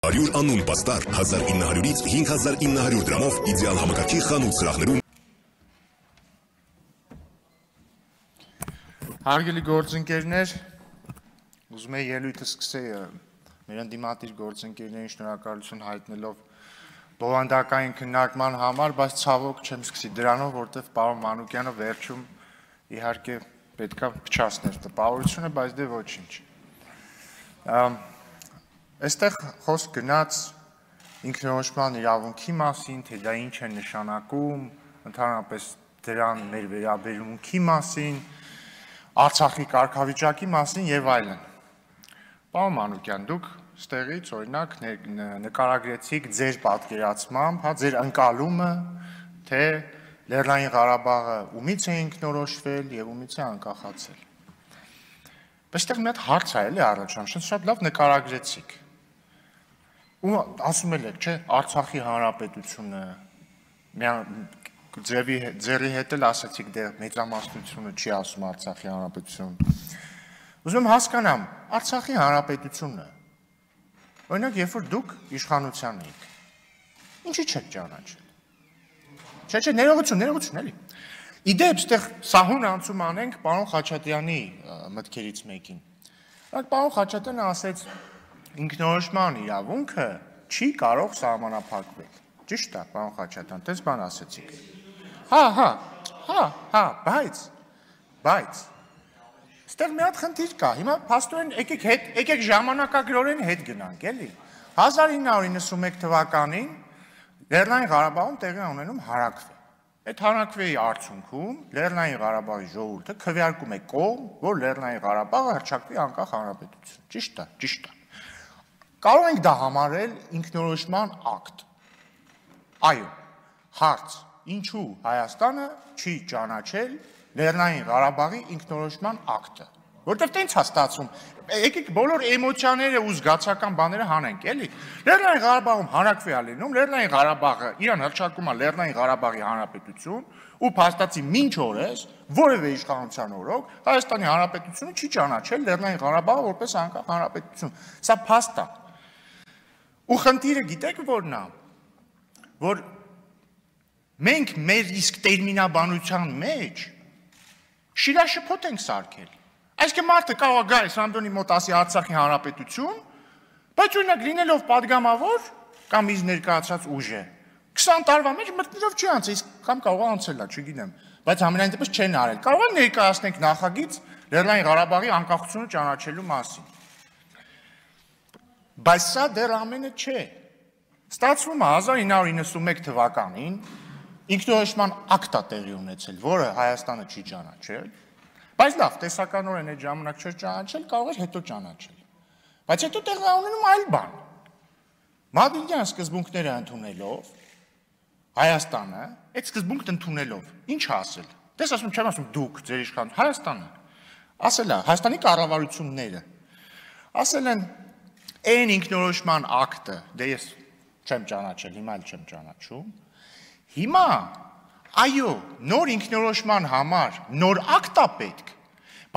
100 անուն պաստար 1900-ից 5900 դրամով իդեալ համակարգի խանութ սրահներում։ Հարգելի գործընկերներ, ուզում եմ ելույթը սկսեի մեր ընդդիմադիր գործընկերներին շնորհակալություն հայտնելով բովանդակային քննարկման համար, բայց ցավոք չեմ սկսի դրանով, որտեղ պարոն Մանուկյանը վերջում իհարկե պետքա փչացներ տպավորությունը, բայց դե ոչինչ։ Այստեղ խոսք գնաց ինքնորոշման իրավունքի մասին, թե դա ինչ է նշանակում, ընդհանրապես դրան մեր վերաբերմունքի մասին, Արցախի կարգավիճակի մասին եւ այլն։ Պարոն Մանուկյան, դուք ստեղից օրինակ նկարագրեցիք ձեր պատկերացմամբ, հա, ձեր ընկալումը, թե Լեռնային Ղարաբաղը ումից է ինքնորոշվել եւ ումից է անկախացել։ Այստեղ մի հատ հարց է էլի առաջանում, շատ լավ նկարագրեցիք։ Ու ասում եք, չէ, Արցախի հանրապետությունը ձերի հետ էլ ասացիք դեռ մեծամասնությունը չի ասում Արցախի հանրապետություն։ Ուզում եմ հասկանամ, Արցախի հանրապետությունը, օրինակ, երբ որ դուք իշխանության եք, ինչի չեք ճանաչել։ Չէ, ներողություն, էլի։ Իդեպ, այստեղ սահուն անցում անենք պարոն Խաչատրյանի մտքերից մեկին։ Պարոն Խաչատրյանը ասեց, ինքնորոշման իրավունքը չի կարող սահմանափակվել։ Ճիշտ է, պարոն Խաչատրյան, տես բան ասեցիք։ Բայց այստեղ մի հատ խնդիր կա։ Հիմա փաստորեն եկեք ժամանակագրորեն հետ գնանք, էլի։ 1991 թվականին Լեռնային Ղարաբաղում տեղի ունենում հարաքվե։ Այդ հարաքվեի արդյունքում Լեռնային Ղարաբաղի ժողովուրդը քվեարկում է կողմ, որ Լեռնային Ղարաբաղը հռչակվի անկախ հանրապետություն։ Ճիշտ է։ Կարող ենք դա համարել ինքնորոշման ակտ։ Այո, հարց, ինչու Հայաստանը չի ճանաչել Լեռնային Ղարաբաղի ինքնորոշման ակտը, որտեղ տենց է ստացվում, եկեք բոլոր էմոցիաները ու զգացական բաները հանենք, էլի։ Լեռնային Ղարաբաղում հարաքվե է լինում, Լեռնային Ղարաբաղը իրան հռչակում է Լեռնային Ղարաբաղի հանրապետություն, ու փաստացի մինչ օրս որևէ իշխանության օրոք Հայաստանի հանրապետությունը չի ճանաչել Լեռնային Ղարաբաղը որպես անկախ հանրապետություն։ Սա փաստ է։ Ու խնդիրը գիտեք որն է, որ մենք մեր իսկ տերմինաբանության մեջ շիրաշփոթ ենք սարքել։ Այսինքն մարդը կարող է գա Սամդոնի մոտ ասի Արցախի հանրապետություն, բայց օրինակ լինելով падգամավոր կամ իր ներկայացած ուժը 20 տարվա մեջ մտնելով չի անցել, իսկ կամ կարող է անցել լա, չգիտեմ, բայց համենայն դեպս չեն արել։ Կարող է ներկայացնենք նախագիծ Լեռնային Ղարաբաղի անկախությունը ճանաչելու մասին։ Բայց սա դեռ ամենը չէ։ Ստացվում է 1991 թվականին ինքնորոշման ակտ է տեղի ունեցել, որը Հայաստանը չի ճանաչել, բայց լավ, տեսականորեն այդ ժամանակ չէր ճանաչել, կարող էր հետո ճանաչել։ Բայց հետո տեղի ունենում այլ բան։ Մադրիդյան սկզբունքները ընդունելով, Հայաստանը, այդ սկզբունքն ընդունելով, ինչ ասել։ Դες ասում չեմ ասում դուք, ձեր իշխանություն, Հայաստանը։ Ասել է, Հայաստանի կառավարությունները ասել են այն ինքնորոշման ակտը, դե ես չեմ ճանաչել, հիմա էլ չեմ ճանաչում։ Հիմա, այո, նոր ինքնորոշման համար նոր ակտ է պետք,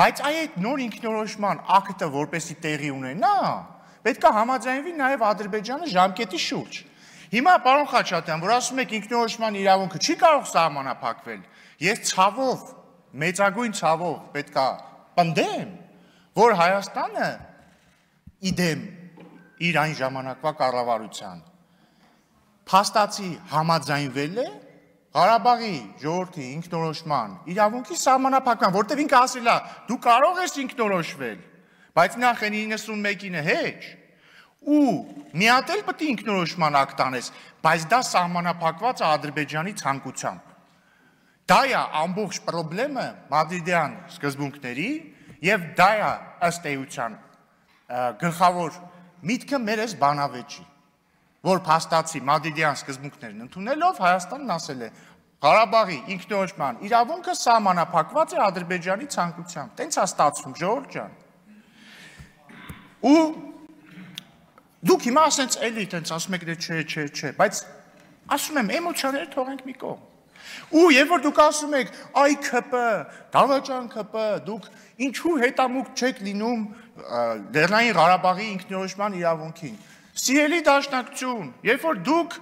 բայց այդ նոր ինքնորոշման ակտը որպեսզի տեղի ունենա, պետք է համաձայնվի նաև Ադրբեջանը ժամկետի շուրջ։ Հիմա, պարոն Խաչատրյան, որ ասում եք ինքնորոշման իրավունքը չի կարող սահմանափակվել, ես ցավով, մեծագույն ցավով պետք է պնդեմ, որ Հայաստանը իդեմ իր այն ժամանակվա կառավարության փաստացի համաձայնվել է Ղարաբաղի ժողովրդի ինքնորոշման իրավունքի սահմանափակման, որտեղ ինքը ասել է, դու կարող ես ինքնորոշվել, բայց նախ այն 91-ը հեչ, ու մի հատ էլ պետք է ինքնորոշման ակտ անես, բայց դա սահմանափակված է Ադրբեջանի ցանկությամբ։ Դա է ամբողջ խնդրը մադրիդյան սկզբունքների եւ դա է ըստ էության գլխավոր միտքը մեր այս բանավեճի, որ փաստացի մադրիդյան սկզբունքներն ընդունելով Հայաստանն ասել է Ղարաբաղի ինքնորոշման իրավունքը սահմանափակված է Ադրբեջանի ցանկությամբ։ Տենց է ստացվում, ժողովուրդ ջան։ Ու դուք հիմա ասենց էլի տենց ասում եք դե չէ, բայց ասում եմ էմոցիաները թողենք մի կողմ։ Ու երբ որ դուք ասում եք այ ՔՊ, դավաճան ՔՊ, դուք ինչու հետամուտ չեք լինում Լեռնային Ղարաբաղի ինքնորոշման իրավունքին։ Սիրելի դաշնակցություն, երբ որ դուք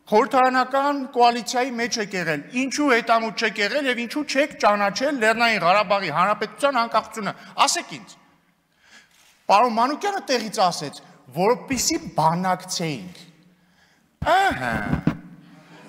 խորհրդարանական կոալիցիայի մեջ եք եղել, ինչու հետամուտ չեք եղել եւ ինչու չեք ճանաչել Լեռնային Ղարաբաղի Հանրապետության անկախությունը, ասեք ինձ։ Պարոն Մանուկյանը տեղից ասեց, որպեսզի բանակցեինք։ Ահա։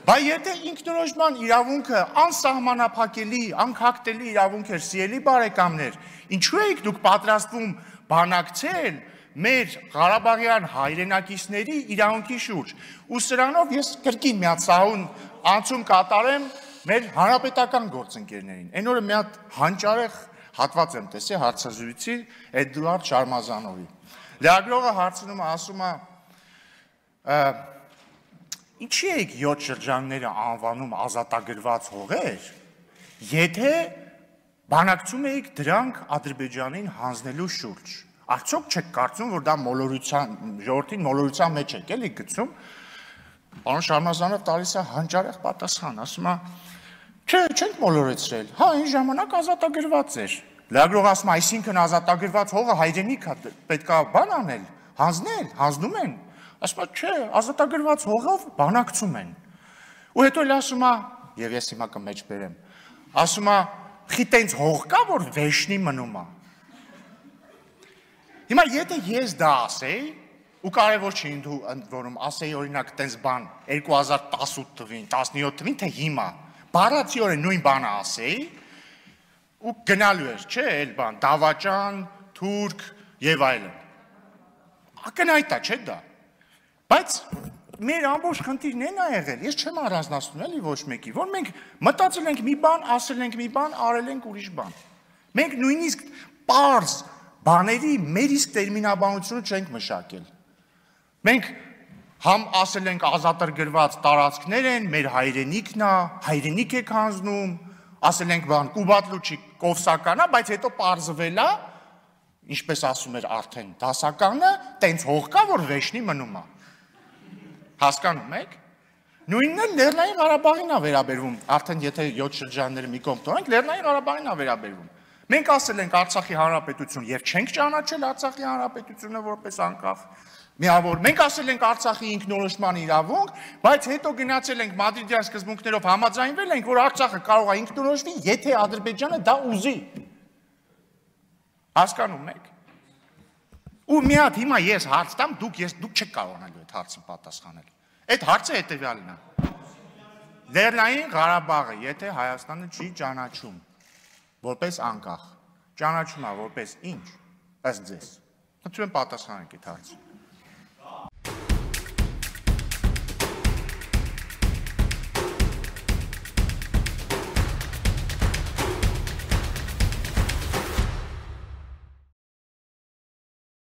Բայց եթե ինքնորոշման իրավունքը անսահմանափակելի, անքակտելի իրավունք էր, սիրելի բարեկամներ, ինչու եք դուք պատրաստվում բանակցել մեր Ղարաբաղյան հայրենակիցների իրավունքի շուրջ։ Ու սրանով ես կրկին մի հատ սահուն անցում կատարեմ մեր հանրապետական գործընկերներին։ Այն օրը մի հատ հանճարեղ հատված եմ տեսել հարցազրույցի Էդուարդ Շարմազանովի։ Լրագրողը հարցնում է, ասում է. Ինչի եք 7 շրջանները անվանում ազատագրված հողեր, եթե բանակցում էիք դրանք Ադրբեջանին հանձնելու շուրջ։ Արդյոք չեք կարծում, որ դա ժողովրդին մոլորության մեջ եք էլի գցում։ Պարոն Շարմազանով տալիս է հանճարեղ պատասխան, ասում է. Չէ, չենք մոլորեցրել։ Հա, այն ժամանակ ազատագրված էր։ Լրագրողը ասում է, այսինքն ազատագրված հողը հայրենիք է, պետք է բան անել, հանձնել, հանձնում են։ Ասում է, չէ, ազատագրված հողով բանակցում են։ Ու հետո էլ ասում է, եւ ես հիմա կմեջ բերեմ, ասում է, խի տենց հող կա, որ վեշնի մնում է։ Հիմա եթե ես դա ասեի, ու կարևոր չի ընդ որում ասեի օրինակ տենց բան 2018 թվին, 17 թվին, թե հիմա, բառացիորեն նույն բանը ասեի, ու գնալու էր, չէ, էլ բան, դավաճան, թուրք եւ այլն։ Ակնհայտ է, չէ՞ դա։ Բայց մեր ամբողջ խնդիրն են ա եղել, ես չեմ առանձնացնում էլի ոչ մեկի, որ մենք մտածել ենք մի բան, ասել ենք մի բան, արել ենք ուրիշ բան։ Մենք նույնիսկ պարզ բաների մեր իսկ տերմինաբանությունը չենք մշակել։ Մենք համ ասել ենք ազատագրված տարածքներ են, մեր հայրենիքն է, հայրենիք եք հանձնում, ասել ենք բան, Կուբատլուչի կովսական է, բայց հետո պարզվել է, ինչպես ասում էր արդեն դասականը, տենց հող կա, որ վեշնի մնում է։ Հասկանում եք։ Նույնն էլ Լեռնային Ղարաբաղին է վերաբերվում, արդեն եթե 7 շրջանները մի կողմ տոնենք, Լեռնային Ղարաբաղին է վերաբերվում։ Մենք ասել ենք Արցախի Հանրապետություն եւ չենք ճանաչել Արցախի Հանրապետությունը որպես անկախ միավոր։ Մենք ասել ենք Արցախի ինքնորոշման իրավունք, բայց հետո գնացել ենք Մադրիդյան սկզբունքներով համաձայնվել ենք, որ Արցախը կարող է ինքնորոշվի, եթե Ադրբեջանը դա ուզի։ Հասկանում եք։ Ու մի հատ հիմա ես հարց տամ, դուք չեք կարողանալու այդ հարցին պատասխանել։ Այդ հարցը հետևյալն է։ Լեռնային Ղարաբաղը, եթե Հայաստանը չի ճանաչում որպես անկախ, ճանաչում է որպես ինչ, ըստ ձեզ։ Խնդրում եմ պատասխանեք այդ հարցին։